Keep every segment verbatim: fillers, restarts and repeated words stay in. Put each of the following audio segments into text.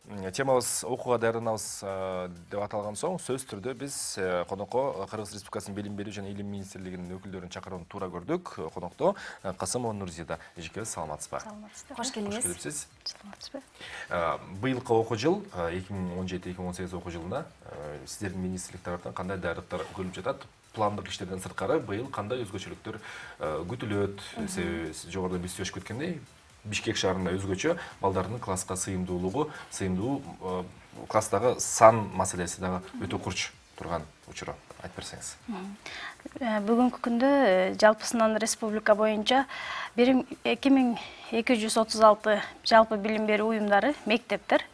Темабыз окууга даярданабыз деп аталган соң сөз түрдө биз конокко Кыргыз Республикасынын Билим берүү жана Илим министрлигинин өкүлдөрүн чакырууну туура көрдүк. Конокто Касымова Нурзида. Эжекебиз саламатсызбы? Саламатсызбы. Кош келиңиз. Кош келипсиз. Саламатсызбы. Быйылкы окуу жыл эки миң он жети эки миң он сегиз окуу жылына сиздердин министрлик тараптан кандай даярдыктар көрүлүп жатат? Пландык иштерден сырткары быйыл кандай өзгөчөлүктөр күтүлөт? Себеби жогоруда биз сөздөшүп кеткендей, Бишкек шаарында өзгөчө балдардын класска сыйымдуулугу, сыйымдуу класстагы сан маселеси дагы өтө курч турган учуру. Айтып берсеңиз. Бүгүнкү күндө жалпысынан республика боюнча эки миң эки жүз отуз алты жалпы билим берүү уюмдары, мектептер,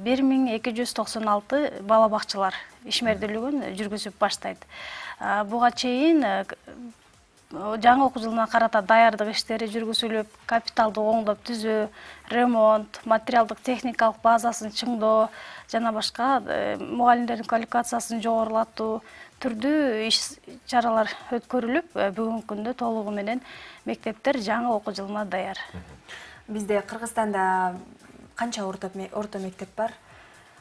бир миң эки жүз токсон алты бала бакчалар ишмердүүлүгүн жүргүзүп баштайт. Буга чейин жаңы окуу жылына карата даярдык иштери жүргүзүлүп, капиталды оңдоп түзөө, ремонт, материалдык техникалык базасын чыңдоо жана башка мугалимдердин квалификациясын жогорулатуу түрдүү иш чаралар өткөрүлүп, бүгүнкү күндө толугу менен мектептер жаңы окуу жылына даяр. Бизде Кыргызстанда канча орто мектеп бар?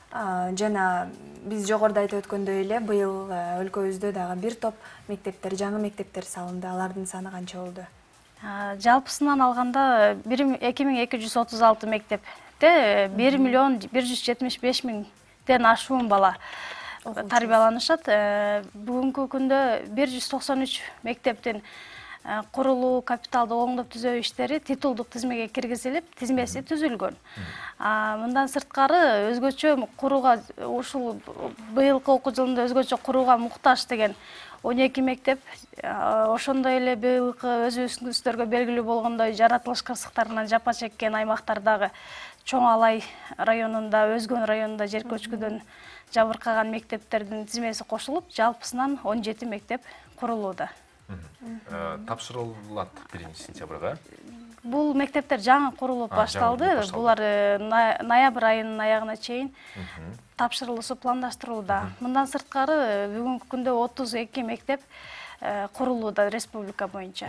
Жана биз жогоруда айтып өткөндөй эле быйыл өлкөбүздө дагы бир топ мектептер, жаңы мектептер салынды. Алардын саны канча болду? Жалпысынан алганда эки миң эки жүз отуз алты мектепте бир миллион бир жүз жетимиш беш миңден ашуун бала тарбияланышат. Бүгүнкү күндө бир жүз токсон үч мектептин курулуу, капиталды оңдоп түзөө иштери титулдук тизмеге киргизилип, тизмеси түзүлгөн. Мындан сырткары өзгөчө курууга ушул быйылкы окуу жылында өзгөчө курууга муктаж деген он эки мектеп, ошондой эле быйылкы өзүбүздөргө белгилүү болгондой жаратылыш кырсыктарынан жапа чеккен аймактардагы Чоң Алай районунда, Өзгөн районунда жер көчкүдөн жабыркаган мектептердин тизмеси кошулуп, жалпысынан он жети мектеп курулууда. Тапшырылат биринчи сентябрга. Бул мектептер жаңы курулуп башталды. Булар ноябрь айынын аягына чейин тапшырылышы пландаштырылууда. Мындан сырткары бүгүнкү күндө отуз эки мектеп курулууда республика боюнча.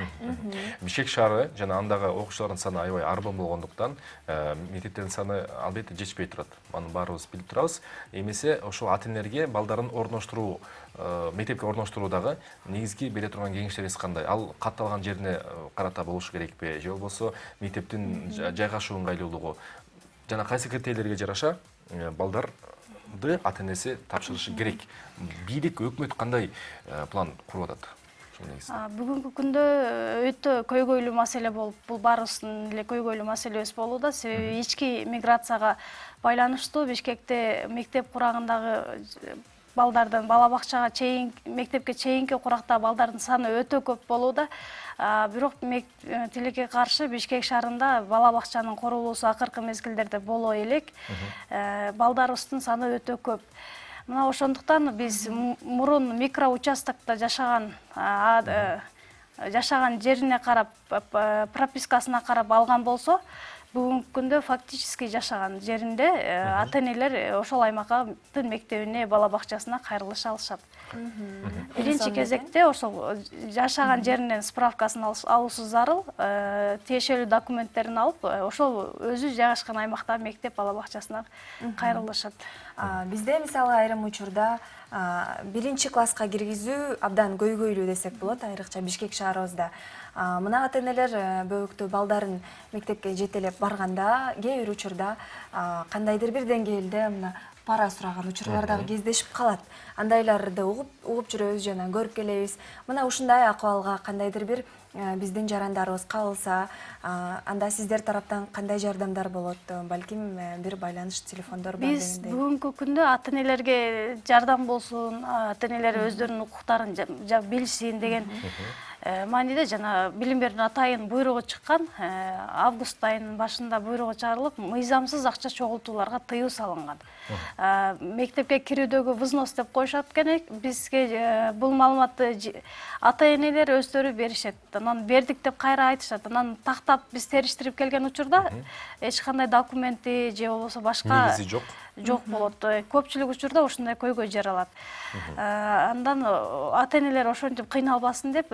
Бишкек шаары жана андагы окуучулардын саны аябай арбан болгондуктан мектептердин саны албетте жетишпей турат. Аны баарыбыз билип турабыз. Эмесе ошол ата-энелерге балдарын орноштуруу, мектепке орноштуруудагы негизги бере турган кеңештериңиз кандай? Ал катталган жерине карата болушу керекпи? Же болбосо мектептин жайгашуу ыңгайлуулугу жана кайсы критерийлерге жараша балдарды ата-энеси тапшырышы керек? Бийлик, өкмөт кандай план куруп атат? Бүгүнкү күндө өтө көйгөйлүү маселе болуп, бул баарыбыздын эле көйгөйлүү маселебиз болууда. Себеби ички миграцияга байланыштуу Бишкекте мектеп курагындагы балдардын бала бакчага чейин, мектепке чейинки куракта балдардын саны өтө көп болууда. Бирок тилекке каршы Бишкек шаарында бала бакчанын курулуусу акыркы мезгилдерде боло элек. Балдарыбыздын саны өтө көп. Мына ошондуктан биз мурун микроучастокто жашаган жашаган жерине карап, пропискасына карап алган болсо, бүгүнкү күндө фактически жашаган жеринде ата-энелер ошол аймактын мектебине, бала бакчасына кайрылыша алышат. Биринчи кезекте ошол жашаган жеринен справкасын алуусу зарыл, тиешелүү документтерин алып, ошол өзү жайгашкан аймактагы мектеп бала бакчасына кайрылышат. Бизде мисалы айрым учурда биринчи класска киргизүү абдан көйгөйлүү десек болот, айрыкча Бишкек шаарыбызда. Мына ата-энелер бөбөктүү балдарын мектепке жетелеп барганда, кээ бир учурда кандайдыр бир деңгээлде мына пара сураган учурлар дагы кездешип калат. Андайларды угуп жүрөбүз жана көрүп келебиз. Мына ушундай акыбалга кандайдыр бир биздин жарандарыбыз кабылса, анда сиздер тараптан кандай жардамдар болот? Балким бир байланыш телефондор бар дегендей. Биз бүгүнкү күндө ата-энелерге жардам болсун, ата-энелер өздөрүнүн укуктарын билишсин деген мааниде жана билим берүүнүн атайын буйругу чыккан. Август айынын башында буйругу чыгарылып, мыйзамсыз акча чогултууларга тыюу салынган. Мектепке кирүүдөгү взнос деп коюшат экен. Бизге бул маалыматты ата-энелер өздөрү беришет. Анан бердик деп кайра айтышат. Анан тактап биз териштирип келген учурда эч кандай документи же болбосо башка негизи жок. Жок болот. Көпчүлүк учурда ушундай көйгөй жаралат. Андан ата-энелер ошентип кыйналбасын деп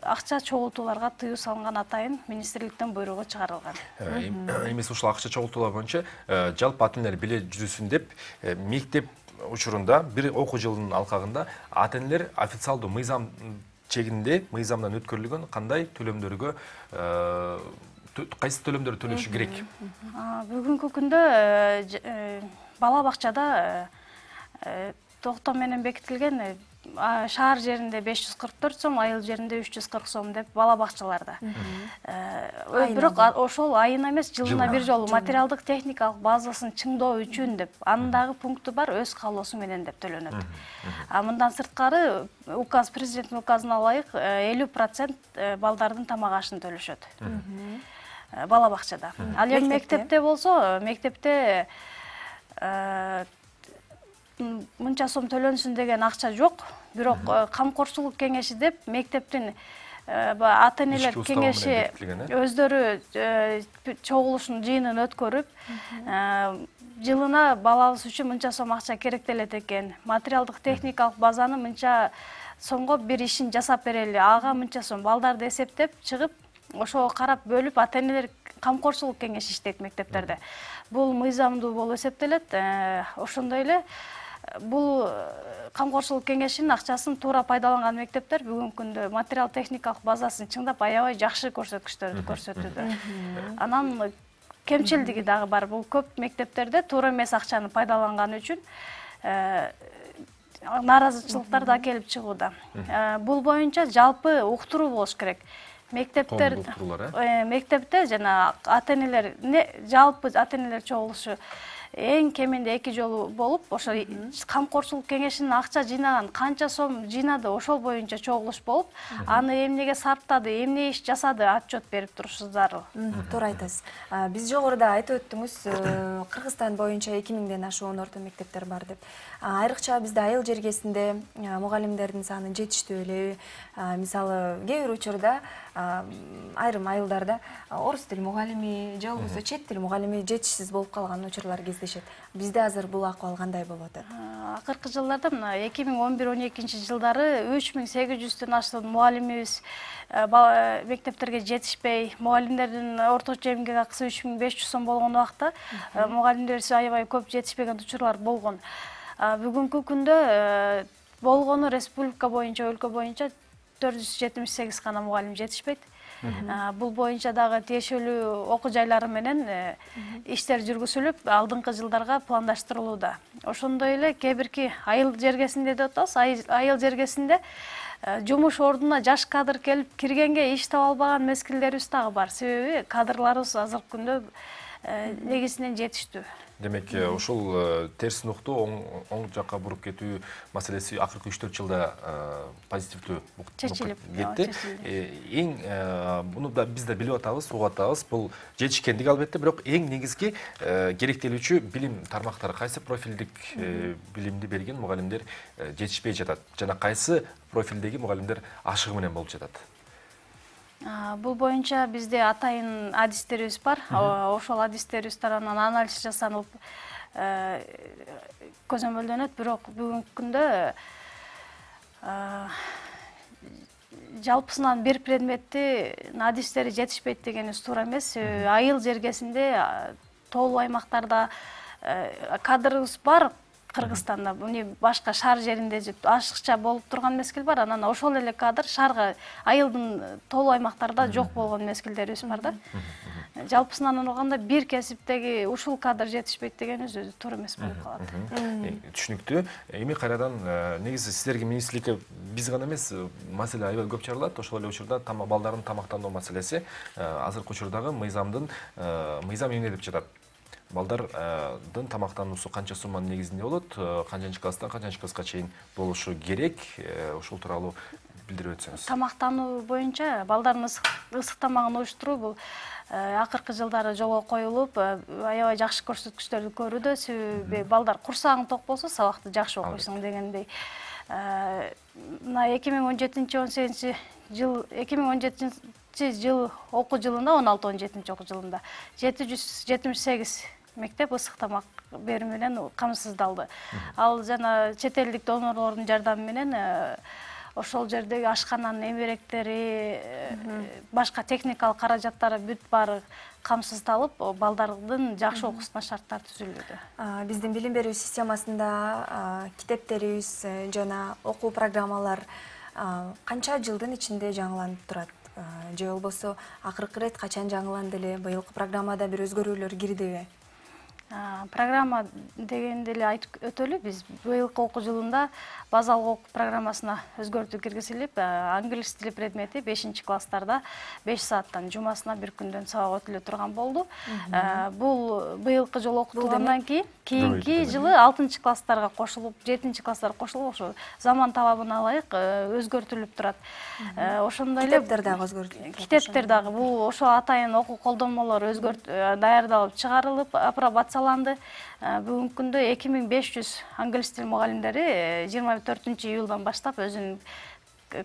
акча чогултууларга тыюу салынган атайын министрликтен буйругу чыгарылган. Эмес ушул акча чогултуулар боюнча жалпы ата энелер биле жүрүсүн деп мектеп учурунда бир окуу жылынын алкагында ата энелер официалдуу мыйзам чегинде мыйзамдан өткөрүлгөн кандай төлөмдөргө кайсы төлөмдөрдү төлөшү керек? Бүгүнкү күндө бала бакчада токтом менен бекитилген шаар жеринде беш жүз кырк төрт сом, айыл жеринде үч жүз кырк сом деп бала бакчаларда. Бирок ошол айына эмес, жылына бир жолу материалдык техникалык базасын чыңдоо үчүн деп, анын дагы пункту бар, өз каалоосу менен деп төлөнөт. А мындан сырткары указ, президенттин указына ылайык элүү процент балдардын тамак ашын төлөшөт. Бала бакчада. Ал эми мектепте болсо, мектепте мынча сом төлөнсүн деген акча жок. Бирок камкорчулук кеңеши деп мектептин ата энелер кеңеши өздөрү чогулушун жыйынын өткөрүп, жылына балабыз үчүн мынча сом акча керектелет экен. Материалдык техникалык базаны мынча сомго бир ишин жасап берели. Ага мынча сом балдарды эсептеп чыгып, ошого карап бөлүп ата энелер камкорчулук кеңеши иштейт мектептерде. Бул мыйзамдуу болуп эсептелет. Ошондой эле бул камкорчулук кеңешинин акчасын туура пайдаланган мектептер бүгүнкү күндө материал техникалык базасын чыңдап аябай жакшы көрсөткүчтөрдү көрсөтүүдө. Анан кемчилдиги дагы бар. Бул көп мектептерде туура эмес акчаны пайдаланган үчүн нааразычылыктар да келип чыгууда. Бул боюнча жалпы уктуруу болуш керек. Мектептер мектепте жана ата энелер жалпы ата энелер чогулушу эң кеминде эки жолу болуп, ошо камкорчулук кеңешинин акча жыйнаган канча сом жыйнады, ошол боюнча чогулуш болуп, аны эмнеге сарптады, эмне иш жасады, отчет берип турушу зарыл. Туура айтасыз. Биз жогоруда айтып өттүңүз, Кыргызстан боюнча эки миңден ашуун орто мектептер бар деп. Айрыкча бизде айыл жергесинде мугалимдердин саны жетиштүү эле. Мисалы, кээ бир учурда айрым айылдарда орус тил мугалими же болбосо чет тил мугалими жетишсиз болуп калган учурлар кездешет. Бизде азыр бул акыбал кандай болуп атат? Акыркы жылдарда мына эки миң он бир он экинчи жылдары үч миң сегиз жүздөн ашкан мугалимибиз мектептерге жетишпей, мугалимдердин орточо эмгек акысы үч миң беш жүз сом болгон убакта мугалимдерибиз аябай көп жетишпеген учурлар болгон. Бүгүнкү күндө болгону республика боюнча, өлкө боюнча төрт жүз жетимиш сегиз гана мугалим жетишпейт. Бул боюнча дагы тиешелүү окуу жайлары менен иштер жүргүзүлүп, алдыңкы жылдарга пландаштырылууда. Ошондой эле кээ бирки айыл жергесинде деп атабыз, айыл жергесинде жумуш ордуна жаш кадр келип киргенге иш таба албаган мезгилдерибиз дагы бар. Себеби кадрларыбыз азыркы күндө негизинен жетиштүү. Демек, ушул терс нукту оң жакка буруп кетүү маселеси акыркы үч төрт жылда позитивдүү кетти. Эң муну да биз да билип атабыз, угуп атабыз. Бул жетишкендик албетте, бирок эң негизги керектелүүчү билим тармактары кайсы профилдик билимди берген мугалимдер жетишпей жатат жана кайсы профилдеги мугалимдер ашыгы менен болуп жатат? Бул боюнча бизде атайын адистерибиз бар. Ошол адистерибиз тарабынан анализ жасалып көзөмөлдөнөт, бирок бүгүнкү күндө жалпысынан бир предметти адистери жетишпейт дегенибиз туура эмес. Айыл жергесинде тоолуу аймактарда кадрыбыз бар. Кыргызстанда муну башка шаар жеринде ашыкча болуп турган мезгил бар. Анан ошол эле кадр шаарга, айылдын тоолуу аймактарда жок болгон мезгилдерибиз бар да. Жалпысынан алганда бир кесиптеги ушул кадр жетишпейт дегенибиз өзү туура эмес болуп калат. Түшүнүктүү. Эми кайрадан негизи сиздерге министрликке биз гана эмес, маселе аябай көп чыгарылат. Ошол эле учурда балдардын тамактануу маселеси азыркы учурдагы мыйзамдын мыйзам эмне деп жатат? Балдардын тамактануусу канча сумманын негизинде болот, канчанчы класстан канчанчы класска чейин болушу керек, ушул тууралуу билдирип өтсөңүз. Тамактануу боюнча балдардын ысык тамагын уюштуруу бул акыркы жылдары жолго коюлуп, аябай жакшы көрсөткүчтөрдү көрүүдө. Себеби балдар курсагың ток болсо сабакты жакшы окуйсуң дегендей. Мына эки миң он жетинчи он сегизинчи жыл, эки миң он жетинчи жыл окуу жылында, он алты он жетинчи окуу жылында жети жүз жетимиш сегиз мектеп ысык тамак берүү менен камсыздалды. Ал жана чет элдик донорлордун жардамы менен ошол жердеги ашкананын эмеректери, башка техникалык каражаттары бүт баары камсыздалып, балдардын жакшы окуусуна шарттар түзүлүүдө. Биздин билим берүү системасында китептерибиз жана окуу программалар канча жылдын ичинде жаңыланып турат? Же болбосо акыркы ирет качан жаңыланды эле? Быйылкы программада бир өзгөрүүлөр кирдиби? Программа дегенде эле айтып өтөлү, биз быйылкы окуу жылында базалык окуу программасына өзгөртүү киргизилип, англис тили предмети бешинчи класстарда беш сааттан жумасына бир күндөн сабак өтүлө турган болду. Бул быйылкы жолу окутулгандан кийин кийинки жылы алтынчы класстарга кошулуп, жетинчи класстарга кошулуп, ошо заман талабына ылайык өзгөртүлүп турат. Ошондой эле китептер дагы өзгөртүлүп. Китептер дагы бул ошо атайын окуу колдонмолор өзгөрт даярдалып чыгарылып, апробацияланды. Бүгүнкү күндө эки миң беш жүз англис тил мугалимдери жыйырма төртүнчү июлдан баштап өзүнүн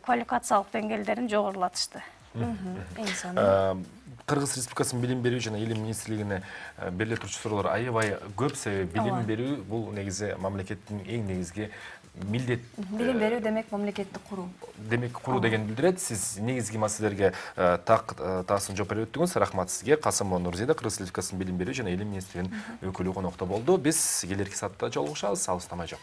квалификациялык деңгээлдерин жогорулатышты. Кыргыз Республикасынын билим берүү жана илим министрлигине бериле турчу суроолор аябай көп, себеби билим берүү бул негизи мамлекеттин эң негизги милдет. Билим берүү демек мамлекетти куруу. Демек куруу деген билдирет. Сиз негизги маселелерге так таасын жооп берип өттүңүз. Рахмат сизге. Касымова Нурзида, Кыргыз Республикасынын билим берүү жана илим министринин өкүлү конокто болду. Биз келерки саатта жолугушабыз. Алыстамай жок.